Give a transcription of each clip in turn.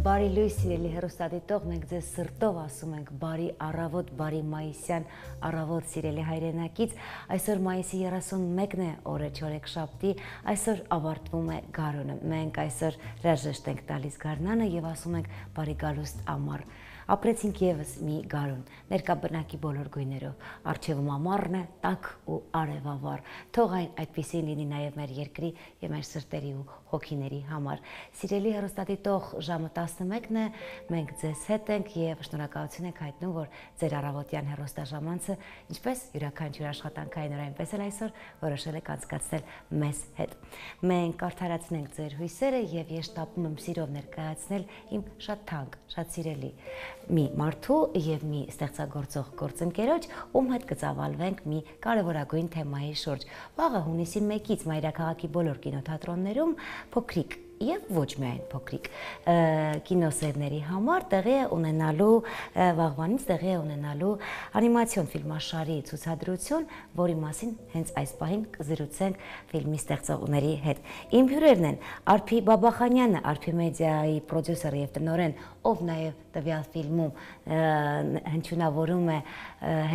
Բարի լույս սիրելի հեռուստադիտող, մենք ձեզ սրտով ասում ենք բարի առավոտ, բարի մայիսյան առավոտ սիրելի հայրենակից։ Այսօր մայիսի 31-ն է, օրը չորեքշաբթի, այսօր ավարտվում է գարունը։ Մենք այսօր հրաժեշտ ենք տալիս գարնանը եւ ասում ենք բարի գալուստ ամառ։ Ապրեցինք եւս մի գարուն, ներկա բնակի բոլոր գույներով, առջևում ամառն է, տաք ու արևավառ, թող այն այդպիսին լինի նաեւ մեր երկրի եւ մեր սրտերի ու հոգիների համար։ Սիրելի հեռուստադիտող, ժամը 11-ն է, մենք ձեզ հետ ենք եւ շնորհակալություն ենք հայտնում, որ ձեր առավոտյան հեռուստաժամանցը, ինչպես յուրաքանչյուր աշխատանքային օր, այնպես էլ այսօր որոշել եք անցկացնել մեզ հետ։ Մենք արդարացնենք ձեր հույսերը եւ ես շտապում եմ սիրով ներկայացնել իմ շատ թանկ, շատ սիրելի մի մարդու եւ մի ստեղծագործող գործընկերոջ, ում հետ կծավալվենք մի կարևորագույն թեմայի շուրջ։ Վաղը հունիսի 1-ից մայրաքաղաքի բոլոր կինոթատրոններում փոքրիկ եւ ոչ միայն փոքրիկ կինոսերների համար տեղի է ունենալու վաղվանից տեղի է ունենալու անիմացիոն ֆիլմաշարի ցուցադրություն, որի մասին հենց այս պահին կզրուցենք ֆիլմի ստեղծողների հետ։ Իմ հյուրերն են Արփի Բաբախանյանը, Արփի մեդիայի պրոդյուսեր եւ տնօրեն, ով նաեւ տվյալ ֆիլմում հնչյունավորում է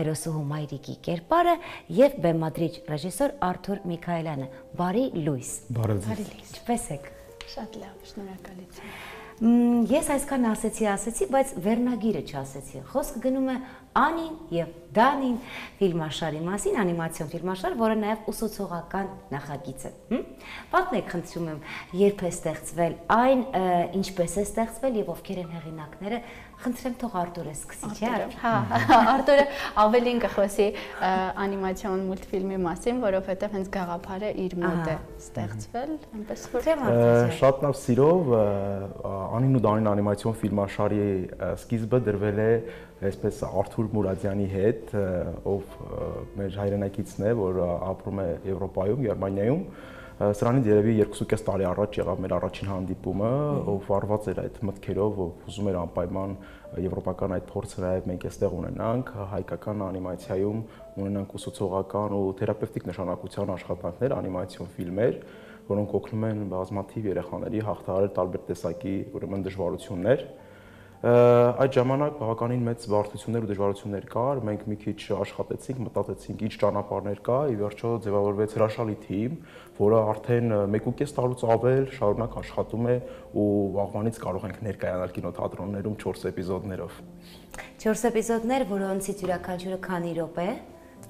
հերոսուհու Մայրիկի կերպարը, եւ բեմադրիչ ռեժիսոր Արթուր Միքայելյանը։ Բարի լույս։ Բարի լույս։ Ինչպե՞ս եք։ Շատ լավ, շնորհակալություն։ Ես այսքան ասեցի, բայց վերնագիրը չասեցի։ Խոսքը գնում է Անին եւ Դանին ֆիլմաշարի մասին, անիմացիոն ֆիլմաշար, որը նաեւ ուսուցողական նախագիծ է։ Պատմեք, խնդրում եմ, երբ է ստեղծվել այն, ինչպես է ստեղծվել եւ ովքեր են հեղինակները։ Խնդրեմ, թող Արտուրը սկսի, չէ՞։ Հա, Արտուրը ավելին կխոսի անիմացիոն մուլտֆիլմի մասին, որովհետեւ հենց գաղափարը իր մոտ է ստեղծվել, այնպես որ շատ լավ սիրով Անին ու Դանին անիմացիոն ֆիլմաշարի սկիզբը դրվել է այսպես Արթուր Մուրադյանի հետ, ով մեր հայրենակիցն է, որ ապրում է Եվրոպայում, Գերմանիայում։ Սրանից երևի 2.5 տարի առաջ եղավ մեր առաջին հանդիպումը, ով վարված էր այդ մտքերով, ով ուզում էր անպայման եվրոպական այդ փորձը նաև մենք այստեղ ունենանք, հայկական անիմացիայում ունենանք ուսուցողական ու թերապևտիկ նշանակության աշխատանքներ, անիմացիոն ֆիլմեր, որոնք օգնում են բազմաթիվ երեխաների հաղթահարել տարբեր տեսակի ուրեմն դժվարություններ։ Այդ ժամանակ բավականին մեծ բարդություններ ու դժվարություններ կար, մենք մի քիչ աշխատեցինք, մտածեցինք ինչ ճանապարհներ կա, ի վերջո ձևավորվեց հրաշալի թիմ, որը արդեն 1.5 տարուց ավել շարունակ աշխատում է ու վաղվանից կարող ենք ներկայանալ կինոթատրոններում 4 էպիզոդներով։ 4 էպիզոդներ, որոնցից յուրաքանչյուրը քանի րոպե է։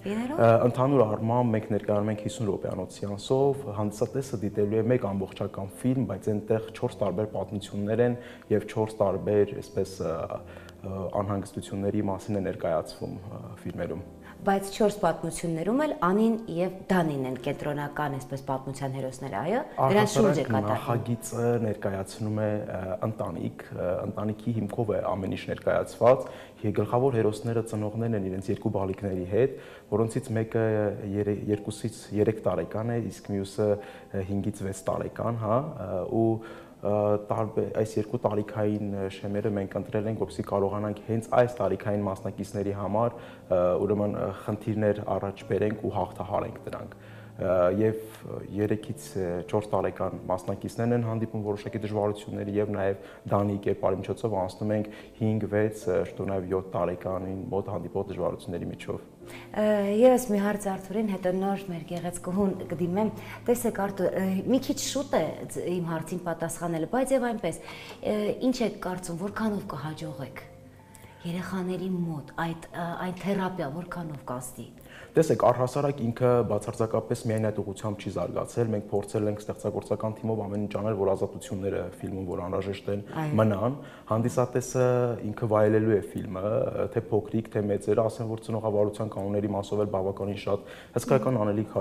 Ընդհանուր առմամբ մենք ներկայանում ենք 50 րոպեանոց սեանսով, հանդիսատեսը դիտելու է մեկ ամբողջական ֆիլմ, բայց այնտեղ 4 տարբեր պատմություններ են եւ 4 տարբեր, այսպես անհանգստությունների մասին է ներկայացվում ֆիլմերում։ Բայց 4 պատմություններում էլ Անին եւ Դանին են կենտրոնական, այսպես պատմության հերոսները, այո։ Դրանց շուրջ է կատարվում։ Նախագիծը ներկայացնում է ընտանիք, ընտանիքի հիմքով է ամեն ինչ ներկայացված։ Գլխավոր հերոսները ծնողներն են իրենց երկու բալիկների հետ, որոնցից մեկը 2-ից 3 տարեկան է, իսկ մյուսը 5-ից 6 տարեկան, հա, ու այս երկու տարիքային շեմերը մենք ընտրել ենք, որպեսզի կարողանանք հենց այս տարիքային մասնակիցների համար ուրեմն խնդիրներ առաջ բերենք ու հաղթահարենք դրանք։ Եվ 3-ից 4 տարեկան մասնակիցներն են հանդիպում որոշակի դժվարությունների եւ նաեւ Դանի կերպարի միջոցով անցնում ենք 5-6, շտունավ 7 տարեկանին մոտ հանդիպող դժվարությունների միջով։ Ես մի հարց Արթուրին, հետո նոր մեր գեղեցկուհուն կդիմեմ։ Տեսեք Արթուր, մի քիչ շուտ է իմ հարցին պատասխանելը, բայց եւ այնպես, ինչ եք կարծում, որքանով կհաջողեք երեխաների մոտ այդ թերապիա որքանով կստի։ Տեսեք, առհասարակ ինքը բացարձակապես միայն այդ ուղղությամբ չի զարգացել, մենք փորձել ենք ստեղծագործական թիմով ամեն ինչ անել, որ ազատությունները ֆիլմում որ անհրաժեշտ են մնան, հանդիսատեսը ինքը վայելելու է ֆիլմը, թե փոքրիկ, թե մեծերը, ասեմ որ ծնողավարության կանոնների մասով էլ բավականին շատ հսկայական անելիք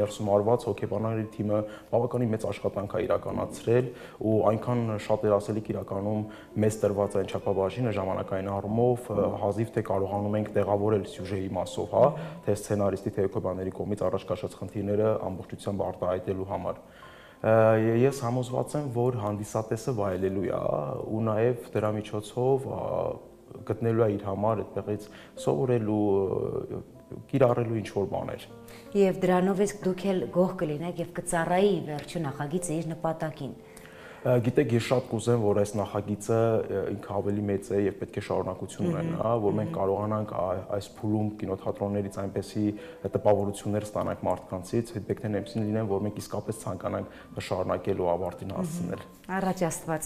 ներսում արված հոգեբանների թիմը բավականին մեծ աշխատանք է իրականացրել ու այնքան շատ էր ասելիք իրականում մեծ տրված այն չափաբաժինը ժամանակային առումով հազիվ թե կարողանում ենք տեղավորել սյուժեի մասով, հա, թե սցենարիստի թե հոգեբանների կողմից առաջ քաշած խնդիրները ամբողջությամբ արտահայտելու համար։ Ես համոզված եմ, որ հանդիսատեսը վայելելու է ու նաև դրա միջոցով գտնելու է իր համար այդտեղից սովորելու, կիրառելու ինչ-որ բաներ։ Եվ դրանով իսկ դուք էլ գոհ կլինեք եւ կծառայի վերջին նախագիծը իր նպատակին։ Գիտեք, ես շատ կուզեմ, որ այս նախագիծը ինքը ավելի մեծ է եւ պետք է շարունակություն ունենա, որ մենք կարողանանք այս փուլում կինոթատրոններից այնպեսի տպավորություններ ստանանք մարդկանցից, ֆիդբեքներն այնպեսին լինեն, որ մենք իսկապես ցանկանանք շարունակել ու ավարտին հասցնել։ Առաջ Աստված։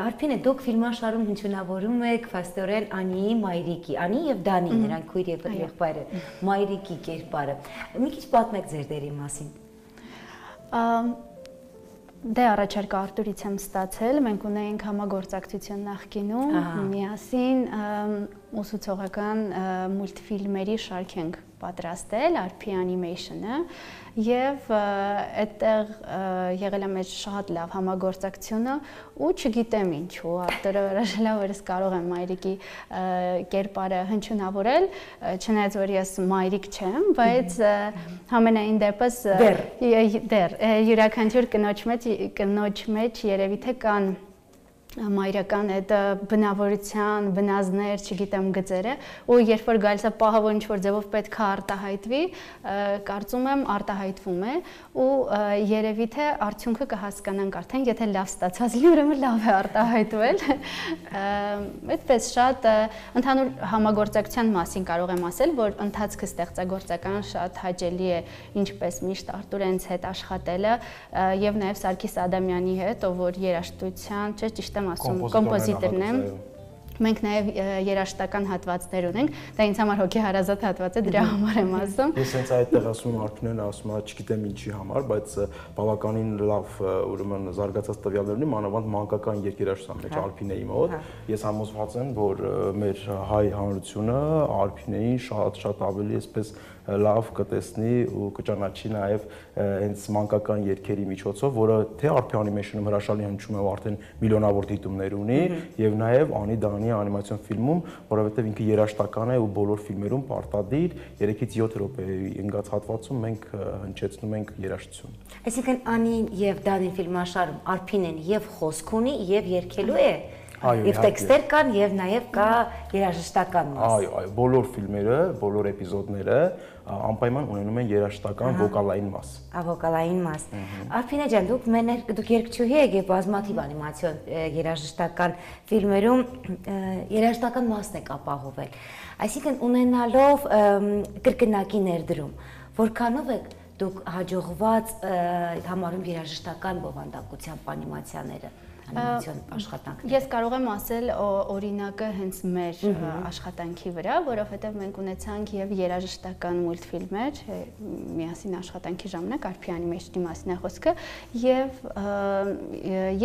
Արփինե, դուք ֆիլմաշարում հնչյունավորում եք փաստորեն Անիի մայրիկի, Անի եւ Դանի, նրանք քույր եւ եղբայր են, մայրիկի կերպարը։ Մի քիչ պատմեք ձեր դերի մասին։ Դե առաջարկը Արտուրից եմ ստացել, մենք ունեինք համագործակցություն նախկինում, միասին ուսուցողական մուլտֆիլմերի շարք ենք պատրաստել, RP Animation-ը, եւ այդտեղ եղել է մեր շատ լավ համագործակցությունը ու չգիտեմ ինչու, Արտուրը հրաժարել է, որ ես կարող եմ մայրիկի կերպարը հնչյունավորել, չնայած որ ես մայրիկ չեմ, բայց համենայն դեպս դեռ յուրաքանչյուր կնոջ մեջ երևի թե կան մայրական այդ բնավորության, բնազներ, չգիտեմ գծերը, ու երբ որ գալիս է պահը, որ ինչ-որ ձևով պետք է արտահայտվի, կարծում եմ արտահայտվում է ու երևի թե արդյունքը կհասկանանք արդեն, եթե լավ ստացած լինի, ուրեմն լավ է արտահայտվել։ Այդպես շատ ընդհանուր համագործակցության մասին կարող եմ ասել, որ ընթացքը ստեղծագործական շատ հաճելի է, ինչպես միշտ Արտուրենց հետ աշխատելը եւ նաեւ Սարգիս Ադամյանի հետ, ով որ երաժշտության, ճիշտ եմ ասում, կոմպոզիտորն եմ։ Մենք նաև երաժշտական հատվածներ ունենք, դա ինձ համար հոգեհարազատ հատված է, դրա համար եմ ասում։ Ես հենց այդտեղ ասում եմ Արփինեն, ասում է, չգիտեմ ինչի համար, բայց բավականին լավ, ուրեմն զարգացած տվյալներ ունի, մանավանդ մանկական երգերաշտության մեջ Արփինեի մոտ։ Ես համոզված եմ, որ մեր հայ հանրությունը Արփինեին շատ ավելի այսպես լավ կտեսնի ու կճանաչի նաև հենց մանկական երգերի միջոցով, որը թե RP Animation-ում հրաշալի հնչում է ու արդեն միլիոնավոր դիտումներ ունի, եւ նաև Անի Դանի անիմացիոն ֆիլմում, որովհետեւ ինքը երաժշտական է ու բոլոր ֆիլմերում պարտադիր 3-ից 7 րոպեի ընկած հատվածում մենք հնչեցնում ենք երաժշտություն։ Այսինքն Անին եւ Դանին ֆիլմաշարում RP-ն եւ խոսք ունի եւ երգելու է։ Եվ տեքստեր կան եւ նաեւ կա երաժշտական մաս։ Այո, բոլոր ֆիլմերը, բոլոր էպիզոդները անպայման ունենում են երաժշտական վոկալային մաս։ Վոկալային մաս։ Արփինե ջան, դուք երգչուհի եք եւ բազմաթիվ անիմացիոն երաժշտական ֆիլմերում երաժշտական մասն եք ապահովել։ Այսինքն ունենալով կրկնակի ներդրում, որքանով եք դուք հաջողված համարում երաժշտական բովանդակությամբ անիմացիաները։ Անիմացիոն աշխատանք։ Ես կարող եմ ասել օրինակը հենց մեր աշխատանքի վրա, որովհետև մենք ունեցանք եւ երաժշտական մուլտֆիլմեր, միասին աշխատանքի ժամանակ RP Animation-ի մասին է խոսքը,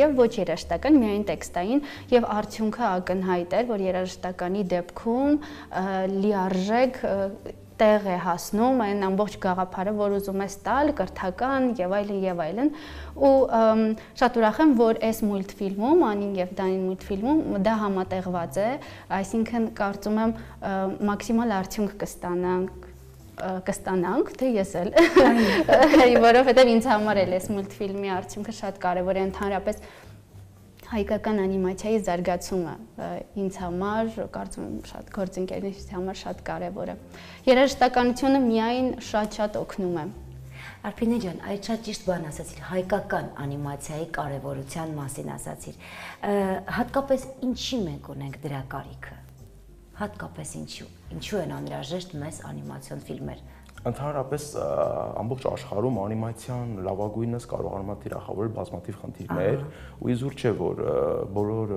եւ ոչ երաժշտական, միայն տեքստային, եւ արդյունքը ակնհայտ էր, որ երաժշտականի դեպքում լիարժեք տեղ է հասնում այն ամբողջ գաղափարը, որ ուզում ես տալ, կրթական եւ այլն, ու շատ ուրախ եմ, որ այս մուլտֆիլմում, Անին եւ Դանին մուլտֆիլմում դա համատեղված է, այսինքն կարծում եմ մաքսիմալ արդյունք կստանանք, թե ես էլ, որովհետեւ ինձ համար էլ այս մուլտֆիլմի արդյունքը շատ կարեւոր է, ընդհանրապես հայկական անիմացիայի զարգացումը ինձ համար, կարծում եմ շատ գործընկերներիս համար շատ կարևոր է։ Երաժշտականությունը միայն շատ օգնում է։ Արփինե ջան, այդ շատ ճիշտ բան ասացիր, հայկական անիմացիայի կարևորության մասին ասացիր։ Հատկապես ինչի մենք ունենք դրա կարիքը։ Հատկապես ինչու են անհրաժեշտ մեզ անիմացիոն ֆիլմեր։ Ընդհանրապես ամբողջ աշխարհում անիմացիան լավագույնս կարողանում է թիրախավորել բազմաթիվ խնդիրներ, ու իզուր չէ, որ բոլոր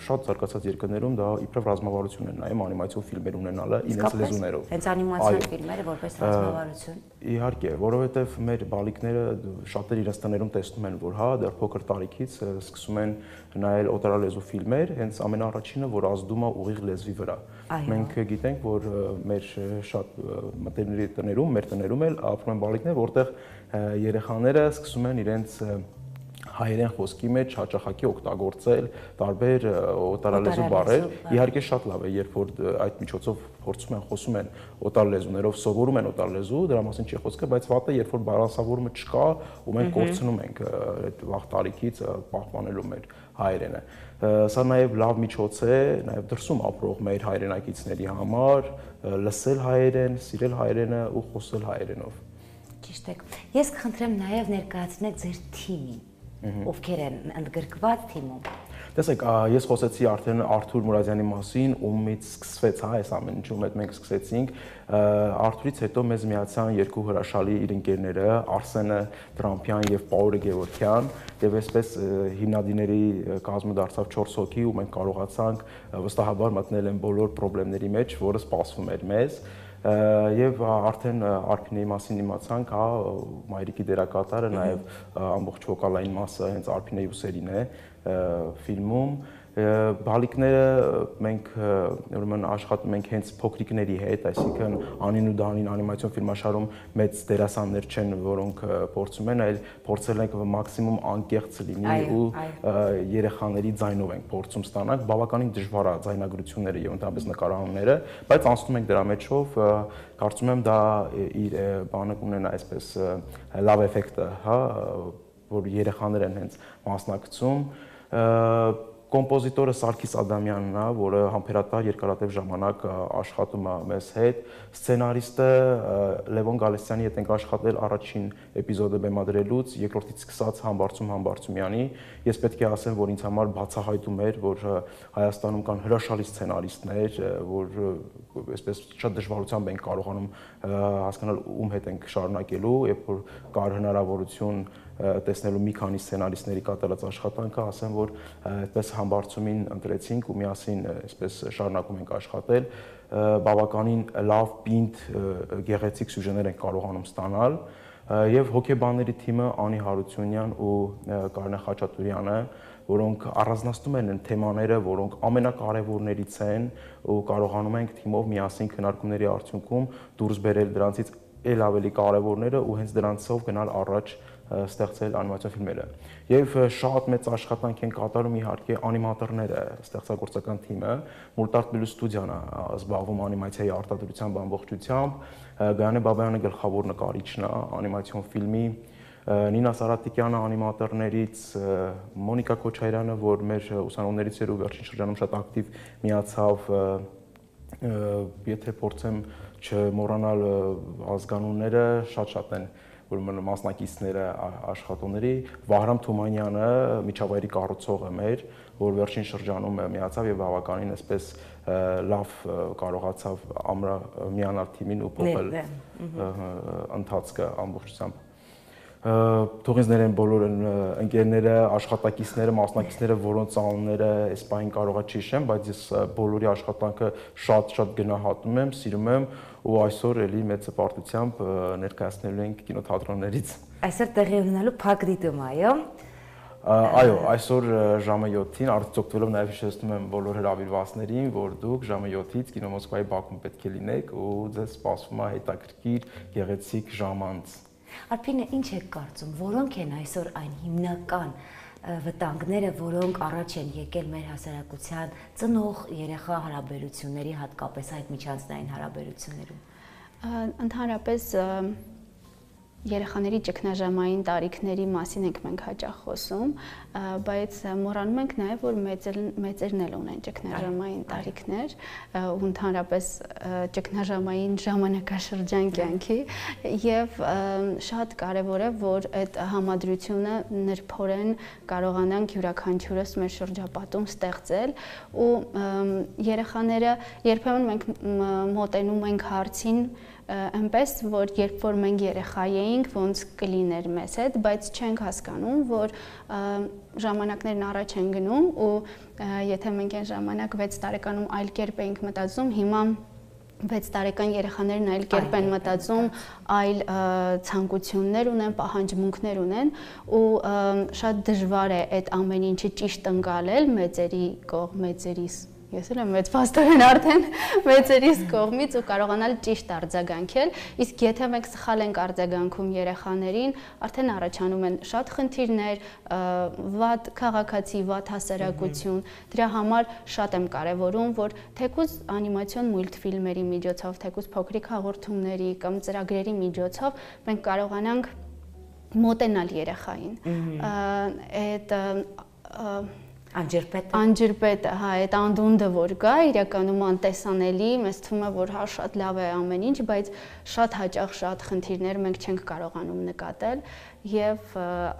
շատ զարգացած երկրներում դա իբրև ռազմավարություն է նայում անիմացիոն ֆիլմեր ունենալը իրենց լեզուներով։ Հենց անիմացիոն ֆիլմերը որպես ռազմավարություն։ Իհարկե, որովհետև մեր բալիկները շատեր իրենց տներում տեսնում են, որ հա, դեռ փոքր տարիքից սկսում են նայել օտարալեզու ֆիլմեր, հենց ամենաառաջինը, որ ազդում է ուղիղ լեզվի վրա։ Մենք գիտենք, որ մեր շատ մտերիմների տներում, մեր տներում էլ ապրում են բալիկներ, որտեղ երեխաները սկսում են իրենց հայերեն խոսքի մեջ հաճախակի օգտագործել տարբեր օտարալեզու բառեր։ Իհարկե շատ լավ է, երբ որ այդ միջոցով փորձում են խոսում են օտարալեզուներով, սովորում են օտարալեզու, դրա մասին չի խոսքը, բայց վատը երբ որ բալանսավորումը չկա ու մենք կորցնում ենք այդ վաղ տարիքից պահպանելու մեր հայերենը։ Սա նաև լավ միջոց է նաև դրսում ապրող մեր հայրենակիցների համար լսել հայերեն, սիրել հայերենը ու խոսել հայերենով։ Ճիշտ է։ Ես կխնդրեմ նաև ներկայացնեք ձեր թիմին։ ովքեր են ընդգրկված թիմում։ Տեսեք, ես խոսեցի արդեն Արթուր Մուրադյանի մասին, ումից սկսվեց այս ամեն ինչը, ում հետ մենք սկսեցինք։ Արթուրից հետո մեզ միացան երկու հրաշալի իր ընկերները, Արսենը Տրամփյան եւ Պաուլը Գևորգյան, եւ այսպես հիմնադիրների կազմը դարձավ 4 հոգի, ու մենք կարողացանք վստահաբար մտնել են բոլոր խնդիրների մեջ, որը սպասվում էր մեզ։ Եվ արդեն Արփինեի մասին իմացանք, հա, Մայրիկի դերակատարը, նաև ամբողջ վոկալային մասը հենց Արփինեի ուսերին է ֆիլմում։ Բալիկները մենք ուրեմն աշխատում ենք հենց փոքրիկների հետ, այսինքն Անին ու Դանին անիմացիոն ֆիլմաշարում մեծ դերասաններ չեն, որոնք փորձում են, այլ փորձել ենք մաքսիմում անկեղծ լինի ու երեխաների ձայնով ենք փորձում ստանալ, բավականին դժվար է ձայնագրությունները եւ ընդհանրապես նկարահանումները, բայց անցնում ենք դրա մեջով, կարծում եմ դա իր բանը կունենա այսպես լավ էֆեկտը, հա, որ երեխաներ են հենց մասնակցում։ Կոմպոզիտորը Սարգիս Ադամյանն է, որը համբերատար երկարատև ժամանակ աշխատում է մեզ հետ։ Սցենարիստը Լևոն Գալստյանի հետ ենք աշխատել առաջին էպիզոդը բեմադրելուց, երկրորդից սկսած Համբարձումյանի։ Ես պետք է ասեմ, որ ինձ համար բացահայտում էր, որ Հայաստանում կան հրաշալի սցենարիստներ, որ այսպես շատ դժվարությամբ ենք կարողանում հասկանալ ում հետ ենք շարունակելու, երբ որ կար հնարավորություն տեսնելու մի քանի սցենարիստների կատարած աշխատանքը, ասեմ, որ այդպես Համբարձումին ընտրեցինք ու միասին այսպես շարունակում ենք աշխատել, բավականին լավ, պինդ, գեղեցիկ սյուժեներ ենք կարողանում ստանալ, եւ հոգեբանների թիմը Անի Հարությունյան ու Կարինե Խաչատուրյանը, որոնք առանձնացնում են թեմաները, որոնք ամենակարևորներից են ու կարողանում ենք թիմով միասին քննարկումների արդյունքում դուրս բերել դրանցից ել ավելի կարևորները ու հենց դրանցով գնալ առաջ ստեղծել անիմացիոն ֆիլմերը։ Եվ շատ մեծ աշխատանք են կատարում իհարկե անիմատորները, ստեղծագործական թիմը, Մուլտարտ ստուդիան է զբաղվում անիմացիայի արտադրությամբ ամբողջությամբ, Գայանե Բաբայանը գլխավոր նկարիչն է անիմացիոն ֆիլմի, Նինա Սարատիկյանը անիմատորներից, Մոնիկա Քոչարյանը, որ մեր ուսանողներից էր ու վերջին շրջանում շատ ակտիվ միացավ, եթե փորձեմ չմոռանալ ազգանունները, շատ են ուրեմն մասնակիցները աշխատողների, Վահրամ Թումանյանը միջավայրի կառուցողը մեր, որ վերջին շրջանում միացավ եւ բավականին այսպես լավ կարողացավ միանալ թիմին ու փոխել ընթացքը ամբողջությամբ։ Թողինձներ են բոլոր ընկերները, աշխատակիցները, մասնակիցները, որոնց անունները այս պահին կարողա չհիշեմ, բայց ես բոլորի աշխատանքը շատ գնահատում եմ, սիրում եմ ու այսօր էլի մեծ հպարտությամբ ներկայացնելու ենք կինոթատրոններից։ Այսօր տեղի ունենալու փակ դիտում, այո։ Այո, այսօր ժամը 7-ին արտահայտվելով նաև հիշեցնում եմ բոլոր հրավիրվածներին, որ դուք ժամը 7-ից Կինո Մոսկվայի բակում պետք է լինեք ու ձեզ սպասվում է հետաքրքիր, գեղեցիկ ժամանց։ Արփինե, ինչ եք կարծում, որոնք են այսօր այն հիմնական վտանգները, որոնք առաջ են եկել մեր հասարակության ծնող երեխա հարաբերությունների, հատկապես այդ միջանձնային հարաբերություններում։ Ընդհանրապես երեխաների ճգնաժամային տարիքների մասին ենք մենք հաճախ խոսում, բայց մոռանում ենք նաև, որ մեծերն էլ ունեն ճգնաժամային տարիքներ ու ընդհանրապես ճգնաժամային ժամանակաշրջան կյանքի եւ շատ կարեւոր է, որ այդ համադրությունը նրբորեն կարողանանք յուրաքանչյուրս մեր շրջապատում ստեղծել ու երեխաները երբեմն մենք մոտենում ենք հարցին այնպես, որ երբ որ մենք երեխա էինք, ոնց կլիներ մեզ հետ, բայց չենք հասկանում, որ ժամանակներն առաջ են գնում ու եթե մենք այն ժամանակ 6 տարեկանում այլ կերպ էինք մտածում, հիմա 6 տարեկան երեխաներն այլ կերպ են մտածում, այլ ցանկություններ ունեն, պահանջմունքներ ունեն ու շատ դժվար է այդ ամեն ինչը ճիշտ ընկալել մեծերի կողմից, ես էլ եմ մեծ փաստորեն արդեն մեծերիս կողմից ու կարողանալ ճիշտ արձագանքել, իսկ եթե մենք սխալ ենք արձագանքում երեխաներին, արդեն առաջանում են շատ խնդիրներ, վատ քաղաքացի, վատ հասարակություն, դրա համար շատ եմ կարևորում, որ թեկուզ անիմացիոն մուլտֆիլմերի միջոցով, թեկուզ փոքրիկ հաղորդումների կամ ծրագրերի միջոցով մենք կարողանանք մոտենալ երեխային, այդ Անջրպետը, հա, այդ անդունդը որ կա, իրականում անտեսանելի, մեզ թվում է, որ հա շատ լավ է ամեն ինչ, բայց շատ հաճախ շատ խնդիրներ մենք չենք կարողանում նկատել եւ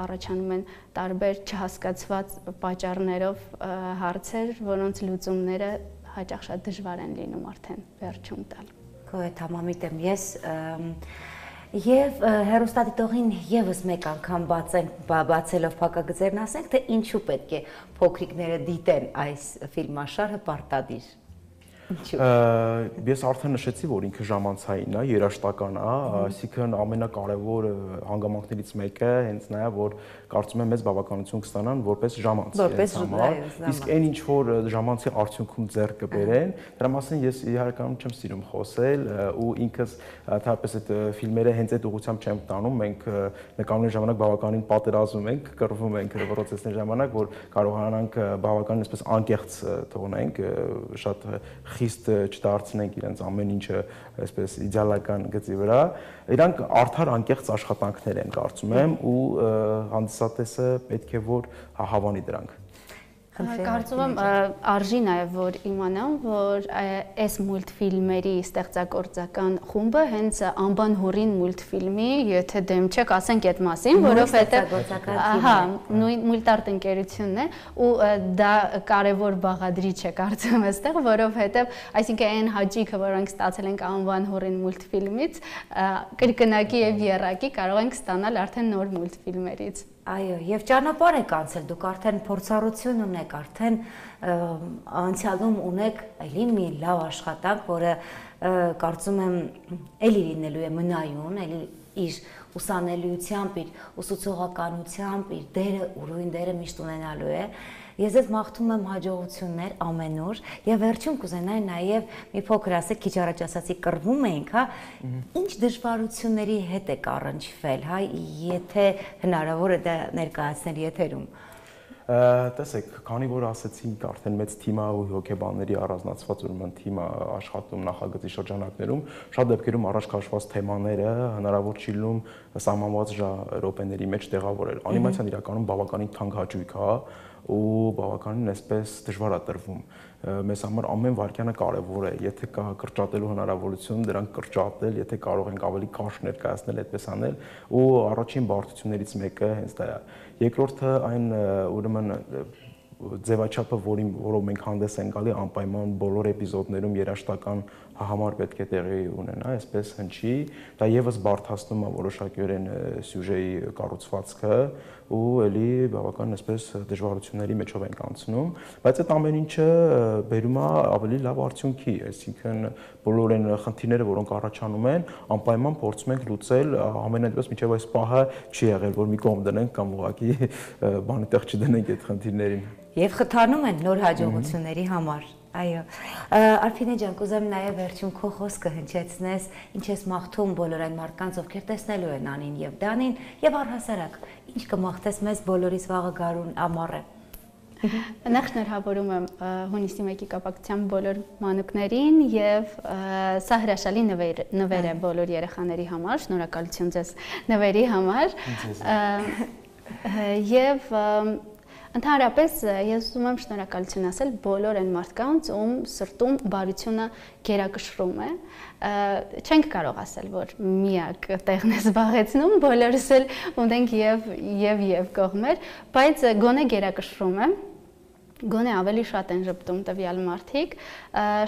առաջանում են տարբեր չհասկացված պատճառներով հարցեր, որոնց լուծումները հաճախ շատ դժվար են լինում արդեն վերջում տալ։ Քո հետ համամիտ եմ ես Եվ հեռուստադիտողին եւս մեկ անգամ բացելով փակագծերն ասենք, թե ինչու պետք է փոքրիկները դիտեն այս ֆիլմաշարը պարտադիր։ Ես արդեն նշեցի, որ ինքը ժամանցային է, երաժշտական է, այսինքն ամենակարևոր հանգամանքներից մեկը հենց նա է, որ կարծում եմ մեծ բավականություն կստանան որպես ժամանց։ Իսկ այն ինչ որ ժամանցի արդյունքում ձեռք կբերեն, դրա մասին ես իհարկանում չեմ սիրում խոսել ու ինքս թեպետ այդ ֆիլմերը հենց այդ ուղղությամբ չեմ տանում, մենք նկարների ժամանակ բավականին պատերազմում ենք, կռվում ենք պրոցեսների ժամանակ, որ կարողանանք բավականին այսպես անկեղծ թողնենք, շատ խիստ չդարձնենք իրենց ամեն ինչը այսպես իդեալական գծի վրա, իրանք արդար անկեղծ աշխատանքներ են կարծում եմ ու հանդիսատեսը պետք է որ հավանի դրանք։ Կարծում եմ արժի նաև որ իմանամ, որ այս մուլտֆիլմերի ստեղծագործական խումբը հենց Անբան հորին մուլտֆիլմի, եթե դեմ չեք, ասենք այդ մասին, որովհետև ահա, նույն մուլտարտ ընկերությունն է ու դա կարևոր բաղադրիչ է կարծում այստեղ, որովհետև այսինքն այն հաճույքը, որ մենք ստացել ենք Անբան հորին մուլտֆիլմից, կրկնակի եւ եռակի կարող ենք ստանալ արդեն նոր մուլտֆիլմերից։ Այո, եւ ճանապարհ եք անցել, դուք արդեն փորձառություն ունեք, արդեն անցյալում ունեք էլի մի լավ աշխատանք, որը կարծում եմ էլի լինելու է մնայուն, էլի իր ուսանելիությամբ, իր ուսուցողականությամբ, իր դերը, ուրույն դերը միշտ ունենալու է։ Ես ձեզ մաղթում եմ հաջողություններ ամեն օր եւ վերջում կուզենայի նաեւ մի փոքր ասեք, քիչ առաջ ասացի կռվում էինք, հա, ինչ դժվարությունների հետ եք առնչվել, հա, եթե հնարավոր է դա ներկայացնել եթերում։ Տեսեք, քանի որ ասեցինք արդեն մեծ թիմա ու հոգեբանների առանձնացված ուրեմն թիմա աշխատում նախագծի շրջանակներում, շատ դեպքերում առաջ քաշված թեմաները հնարավոր չի լինում սահմանված րոպեների մեջ տեղավորել։ Անիմացիան իրականում բավականին թանկ հաճույք է ու բավականին այսպես դժվար է տրվում։ Մեզ համար ամեն վայրկյանը կարևոր է, եթե կա կրճատելու հնարավորություն, դրանք կրճատել, եթե կարող ենք ավելի քաշ ներկայացնել, այդպես անել, ու առաջին բարդություններից մեկը հենց դա է։ Երկրորդը այն ուրեմն ձևաչափը, որով մենք հանդես ենք գալի, անպայման բոլոր էպիզոդներում երաժշտական համար պետք է տեղի ունենա, այսպես հնչի, դա եւս բարդացնում է որոշակիորեն սյուժեի կառուցվածքը ու էլի բավական այսպես դժվարությունների մեջով ենք անցնում, բայց այդ ամեն ինչը բերում է ավելի լավ արդյունքի, այսինքն բոլոր այն խնդիրները, որոնք առաջանում են, անպայման փորձում ենք լուծել, ամենայնպես մինչև այս պահը չի եղել, որ մի կողմ դնենք կամ ուղղակի բանի տեղ չդնենք այդ խնդիրներին։ Եվ խթանում են նոր հաջողությունների համար։ Այո, Արփինե ջան, կուզեմ նաև վերջում քո խոսքը հնչեցնես, ինչ ես մաղթում բոլոր այն մարդկանց, ովքեր տեսնելու են Անին եւ Դանին, եւ առհասարակ, ինչ կմաղթես մեզ բոլորիս վաղը գարուն ամառ է։ Նախ շնորհավորում եմ հունիսի 1-ի կապակցությամբ բոլոր մանուկներին եւ սա հրաշալի նվեր է բոլոր երեխաների համար, շնորհակալություն ձեզ նվերի համար։ Եվ ընդհանրապես ես ուզում եմ շնորհակալություն ասել բոլոր այն մարդկանց, ում սրտում բարությունը գերակշռում է։ Չենք կարող ասել, որ միակ տեղն է զբաղեցնում, բոլորս էլ ունենք եւ կողմեր, բայց գոնե գերակշռում է։ Գոնե ավելի շատ են ժպտում տվյալ մարդիկ։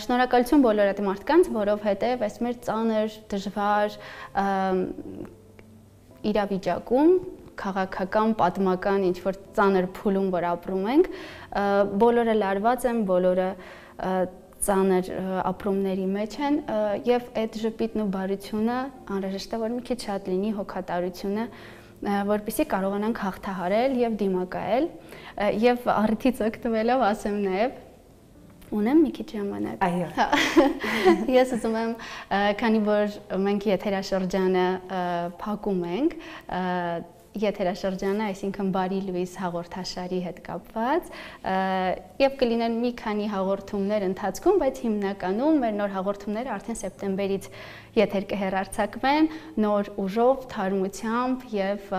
Շնորհակալություն բոլոր այդ մարդկանց, որովհետև այս մեր ծանր, դժվար իրավիճակում քաղաքական, պատմական ինչ-որ ծանր փուլում, որ ապրում ենք, բոլորը լարված են, բոլորը ծանր ապրումների մեջ են եւ այդ ժպիտն ու բարությունը անհրաժեշտ է, որ մի քիչ շատ լինի հոգատարությունը, որպեսզի կարողանանք հաղթահարել եւ դիմակայել եւ առիթից օգտվելով ասեմ նաեւ ունեմ մի քիչ ժամանակ։ Այո։ Ես ուզում եմ, քանի որ մենք եթերաշրջանը փակում ենք, եթերաշրջանը, այսինքն Բարի լույս հաղորդաշարի հետ կապված, եւ կլինեն մի քանի հաղորդումներ ընթացքում, բայց հիմնականում մեր նոր հաղորդումները արդեն սեպտեմբերից եթեր կհեռարձակվեն նոր ուժով, թարմությամբ եւ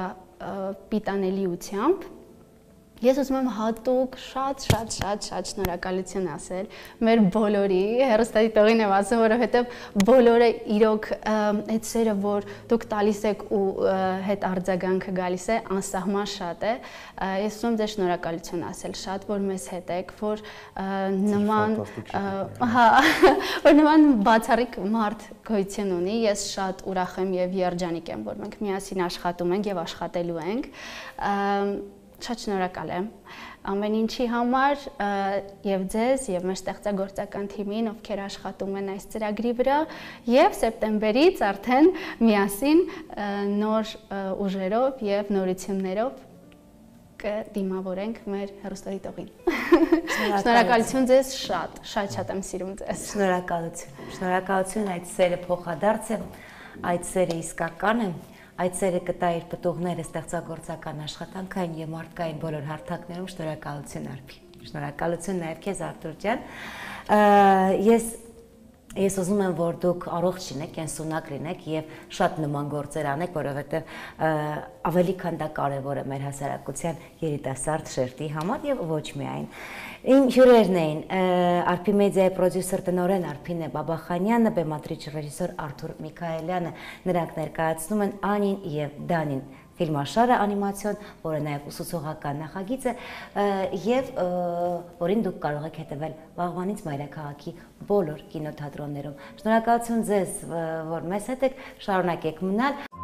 պիտանելիությամբ։ Ես ուզում եմ հատուկ շատ շնորհակալություն ասել մեր բոլորի, հեռուստադիտողին եմ ասում, որովհետև բոլորը իրոք այդ սերը, որ դուք տալիս եք ու հետ արձագանքը գալիս է, անսահման շատ է։ Ես ուզում եմ ձեզ շնորհակալություն ասել շատ, որ մեզ հետ եք, որ նման բացառիկ մարդ գոյություն ունի։ Ես շատ ուրախ եմ եւ երջանիկ եմ, որ մենք միասին աշխատում ենք եւ աշխատելու ենք։ Շատ շնորհակալ եմ ամեն ինչի համար եւ ձեզ եւ մեր ստեղծագործական թիմին, ովքեր աշխատում են այս ծրագրի վրա, եւ սեպտեմբերից արդեն միասին նոր ուժերով եւ նորություններով կդիմավորենք մեր հեռուստադիտողին։ Շնորհակալություն ձեզ շատ եմ սիրում ձեզ։ Շնորհակալություն, այդ սերը փոխադարձ է, այդ սերը իսկական է։ Այդ սերը կտա իր պտուղները ստեղծագործական աշխատանքային եւ մարդկային բոլոր հարթակներում։ Շնորհակալություն Արփի։ Շնորհակալություն նաեւ քեզ Արտուր ջան։ Ես ուզում եմ, որ դուք առողջ լինեք, կենսունակ լինեք եւ շատ նման գործեր անեք, որովհետեւ ավելի քան դա կարեւոր է մեր հասարակության երիտասարդ շերտի համար եւ ոչ միայն։ Իմ հյուրերն էին Արփի մեդիայի պրոդյուսեր տնօրեն Արփինե Բաբախանյանը, բեմադրիչ ռեժիսոր Արթուր Միքայելյանը, նրանք ներկայացնում են Անին եւ Դանին ֆիլմաշարը անիմացիոն, որը նաև ուսուցողական նախագիծ է եւ որին դուք կարող եք հետևել վաղվանից մայրաքաղաքի բոլոր կինոթատրոններում։ Շնորհակալություն ձեզ, որ մեզ հետ եք, շարունակեք մնալ։